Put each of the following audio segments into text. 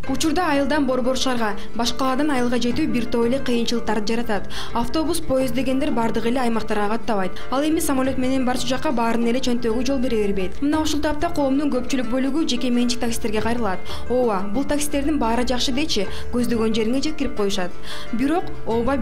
Учурда айылдан борбор шаарга, башкалардан айылга жетүү бир топ эле кыйынчылыктарды жаратат. Автобус, поезд дегендер бардыгы эле аймактарга каттабайт. Ал эми самолет менен барчу жакка баарын эле чөнтөгү жол бере бербейт. Мына ушул тапта коомдун көпчүлүк бөлүгү жеке менчик таксистерге кайрылат. Ооба, бул таксистердин баары жакшы дечи, көздөгөн жериңе жеткирип коюшат. Бирок,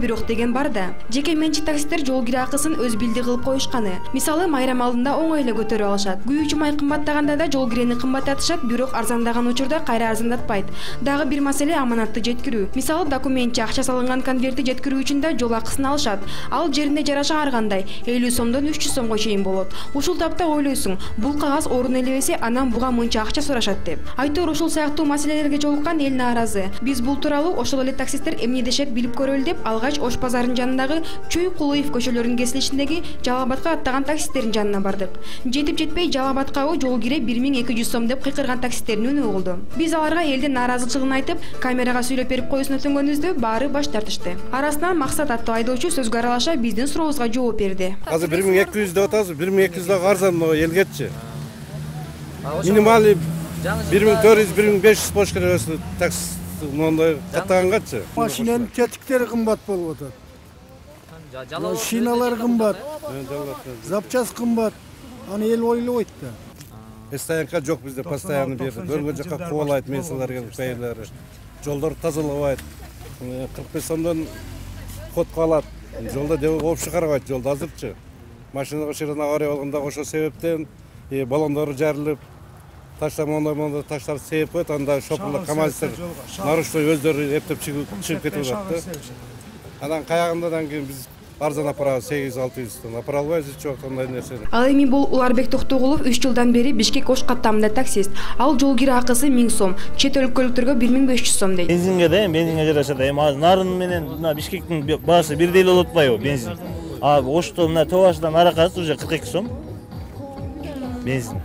бирок деген бар да. Жеке менчик таксистер жол кире акысын өз билди кылып коюшканы. Мисалы, майрам алдында оңой эле көтөрүп алышат. Күйүүчү май кымбаттаганда да жол кирени кымбаттатышат, бирок арзандаган учурда кайра арзандатпайт. Дагы бир маселе аманатты жеткирүү. Мисалы, документчи акча салынган конвертти жеткирүү үчүн да жол акысын алышат. Ал жеринде жараша ар кандай 50 сомдон 300 сомго чейин болот. Ушул тапта ойлойсуң, бул кагаз орун элебесе, анан буга мынча акча сурашат деп. Айтор ушул сыяктуу маселелерге жолуккан эл нааразы. Биз бул тууралуу ошол эле таксисттер эмне дешет билип көрөлү деп алгач Ош базарынын жанындагы Чүй Кулуев көчөлөрүнүн кесилишиндеги Жалал Абадка аттаган таксисттердин жанына бардык. Жетип жетпей Жалал Абадка жол кире 1200 сом деп кыйкырган таксисттердин үнү угулду. Биз аларга элдин нааразычылыгын айтып, камерага сүйлөп берип коюусун өтүнгөнүбүздө баары баш тартышты. Арасынан Максат аттуу айдоочу сөзгө аралаша биздин сурообузга жооп берди. Азыр 1200 деп атасыз, 1200 да арзан элгечи. Минималый 1400-1500 болуш керек өзү такси мондай каттагангачы. Машинанын тетиктери кымбат болуп атат. Шиналар кымбат. Запчас кымбат. Аны эл ойлобойт да. Стоянка жок бизде, постоянно берди. Көргөн жакка кубалайт менсилер келип кайылары. Жолдор тазалабайт. 45 сомдон ходко алат. Жолда деп общий карабайт жолду азырчы. Машинага ширина авария болгондо ошол себептен баллондору жарылып, таштар таштар себеп коет, анда шопурлар КамАЗдер наруштой өздөрү эптеп чыгып кетип атат да. Анан каягындан кийин биз арзан апарабыз 800-600 апара албайбыз эч убакта андай нерсени. Ал эми бул Уларбек Токтогулов 3 жылдан бери Бишкек Ош каттамында таксист. Ал жол кире акысы 1000 сом, чет өлкөлүктөргө 1500 сом дейт. Бензинге жараша да. Эми нарын менен мына Бишкектин баасы бирдей эле болуп атпайбы бензин? Ошто мына Тобашдан Аракасы уже 42 сом. Бензин.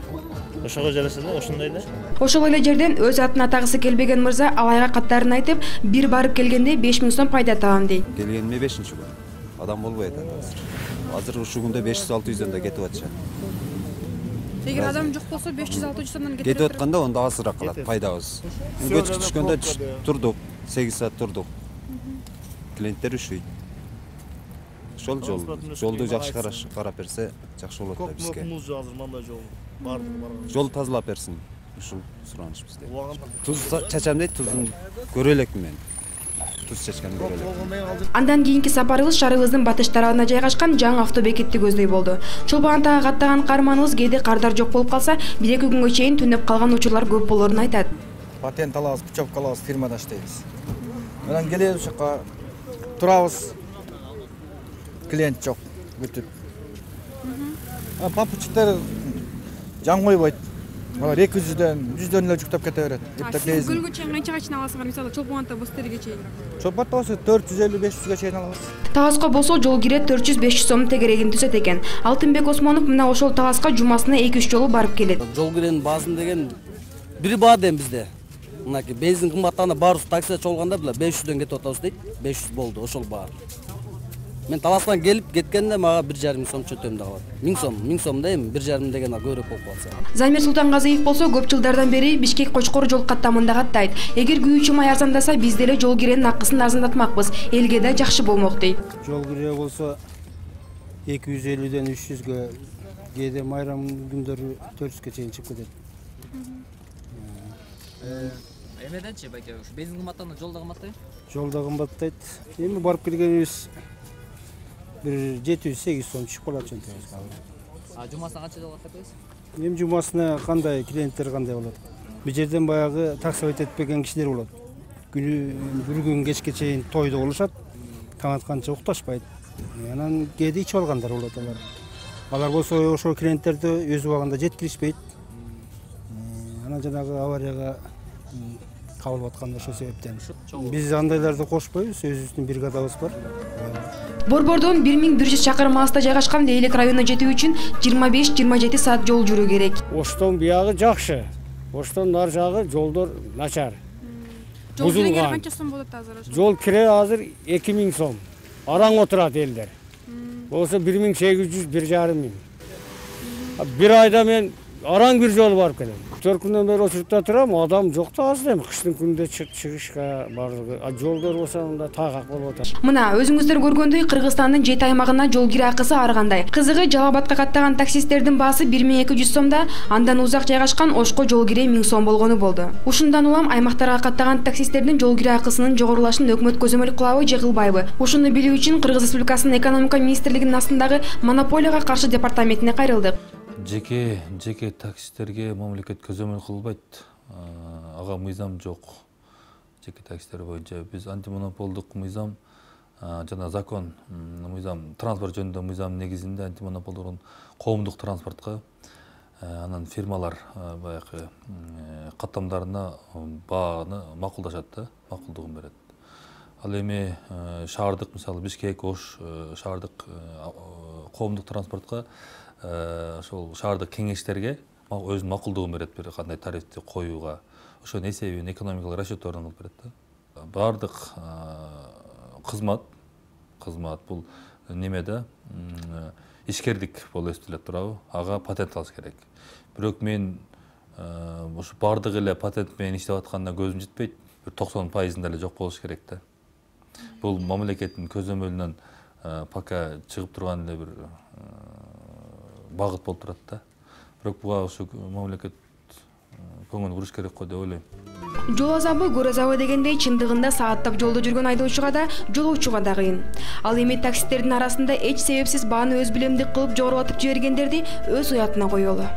Ошого жараша да, ошондой эле. Ошол эле жерден өз атын атагысы келбеген мырза алайга каттарын айтып, бир барып келгенде 5000 сом пайда табам дейт. Келгениме 5-күн. Адам болбойт азыр. Азыр ушул күндө 500-600 да кетип атышат. Эгер адам жок болсо 500-600 сомдон кетип атканда онда азыраак калат пайдабыз. Кечке түшкөндө турдук, 8 саат турдук. Клиенттер üşüйт. Ошол жолду жакшы карап берсе жакшы болот да бизге. Азыр мындай жол бардыгы барган. Жол тазалап берсин. Ушул сураныш бизде. Туз чачам дейт, тузун көрө элекмин мен. Туз чачканды көрө элек. Андан кийинки сапарыбыз шаарыбыздын батыш тарабына жайгашкан жаңы автобекетти көздөй болду. Чолпон Атага каттаган каарманыбыз кээде кардар жок болуп калса, 1-2 күнгө чейин түнөп калган учурлар көп болоорун айтат. Патент алабыз, путевка алабыз, фирмада иштейбиз. Анан келебиз ушакка турабыз. Клиент жок, күтүп. Попутчиктер жан койбойт. Алар 200дөн, 100дөн эле жүктөп кете берет. Сиз көлгө чейин канчага чейин аласыңар? Мисалы, Чолпон Ата Бостерге чейин. Чолпон Ата болсо 450-500га чейин алабыз. Таласка болсо жол кире 400-500 сом тегерегин түзөт экен. Алтынбек Осмонов мына ошол Таласка жумасына 2-3 жолу барып келет. Жол киренин баасын деген бир баа дем бизде. Мынакей бензин кымбаттаганда баарыбыз таксиде чолгондо 500дөн кетип атабыз дейт. 500 болду ошол баа. Мен Таластан келип кеткенде мага 1,5 сом чөтөм да калат. 1000 сом да эми 1,5 деген көбүрөөк болуп калса. Замир Султангазиев болсо көп жылдардан бери Бишкек Кочкор жол каттамында каттайт. Эгер күйүүчү май арзандаса, биз деле жол киренин акысын арзандатмакпыз. Элге да жакшы болмок дейт. Жол кире болсо 250ден 300гө, кээде майрам күндөрү 400га чейин чыгып кетет. Эмеденчи байке, ушу бензин кымбаттаганда жолда кымбаттайбы? Жолда кымбаттайт. Эми барып келгенибиз bir 700-800 сом түшүп калат чөнтөгүбүзгө. Жумасына канча жол каттайсыз? Эми жумасына кандай клиенттер кандай болот? Бул жерден баягы таксовать этпеген кишилер болот. Бир күн кечке чейин тойдо болушат. Таң атканча укташпайт. Анан кээде ичип алгандар болот алар. Алар болсо ошол клиенттерди өз убагында жеткиришпейт. Анан жанагы аварияга кабылып аткан ошол себептен. Биз андайларды кошпойбуз, өзүбүздүн бригадабыз бар. Борбордон 1100 чакырым алыста жайгашкан Лейлек районуна жетүү үчүн 25-27 саат жол жүрүү керек. Оштон биягы жакшы. Оштон нар жагы жолдор начар. Жол кире канча сом болот азыр ошо? Жол кире азыр 2000 сом. Араң отурат элдер. Болсо 1800, 1500. Bir ayda men араң бир жолу барып келем. 4 күндөн бери очуртта турам, адам жок да азыр эми кыштын күнүндө чыгышка бардыгы. Жолдор болсо мында тагак болуп атат. Мына өзүңүздөр көргөндөй Кыргызстандын 7 аймагына жол кире акысы ар кандай. Кызыгы Жалал Абадка каттаган таксисттердин баасы 1200 сомда, андан узак жайгашкан Ошко жол кире 1000 сом болгону болду. Ушундан улам аймактарга каттаган таксисттердин жол кире акысынын жогорулашын өкмөт көзөмөл кылабы же кылбайбы? Ушуну билүү үчүн Кыргыз Республикасынын экономика министрлигинин астындагы монополияга каршы департаментине кайрылдык. Жеке таксистерге мамлекет көзөмөл кылбайт. Ага мыйзам жок. Жеке таксистер боюнча биз антимонополдук мыйзам жана закон мыйзам транспорт жөнүндө мыйзам негизинде антимонополдук коомдук транспортко анан фирмалар баягы каттамдарына бааны макулдашат да, макулдугун берет. Ал эми шаардык мисалы Бишкек, Ош шаардык коомдук транспортко ошол шаардык кеңештерге өзүнүн макулдугун берет, бир кандай тарифти коюуга. Ошонун эсебин экономикалык расчетторун кылып берет да. Бардык кызмат бул немеде ишкердик болуп эсептелет турабы? Ага патент алыш керек. Бирок мен ушу бардык эле патент менен иштеп атканда көзүм жетпейт. Бир 90% эле жок болуш керек да. Бул мамлекеттин көзөмөлүнөн пока чыгып турган эле бир багыт болуп турат да. Бирок буга ушу мамлекет көңүл буруш керек го деп ойлойм. Жол азабы көр азабы дегендей чындыгында сааттап жолдо жүргөн айдоочуга да, жолоочуга да кыйын. Ал эми таксисттердин арасында эч себепсиз бааны өз билемдик кылып жогорулатып жибергендерди өз уятына коелу.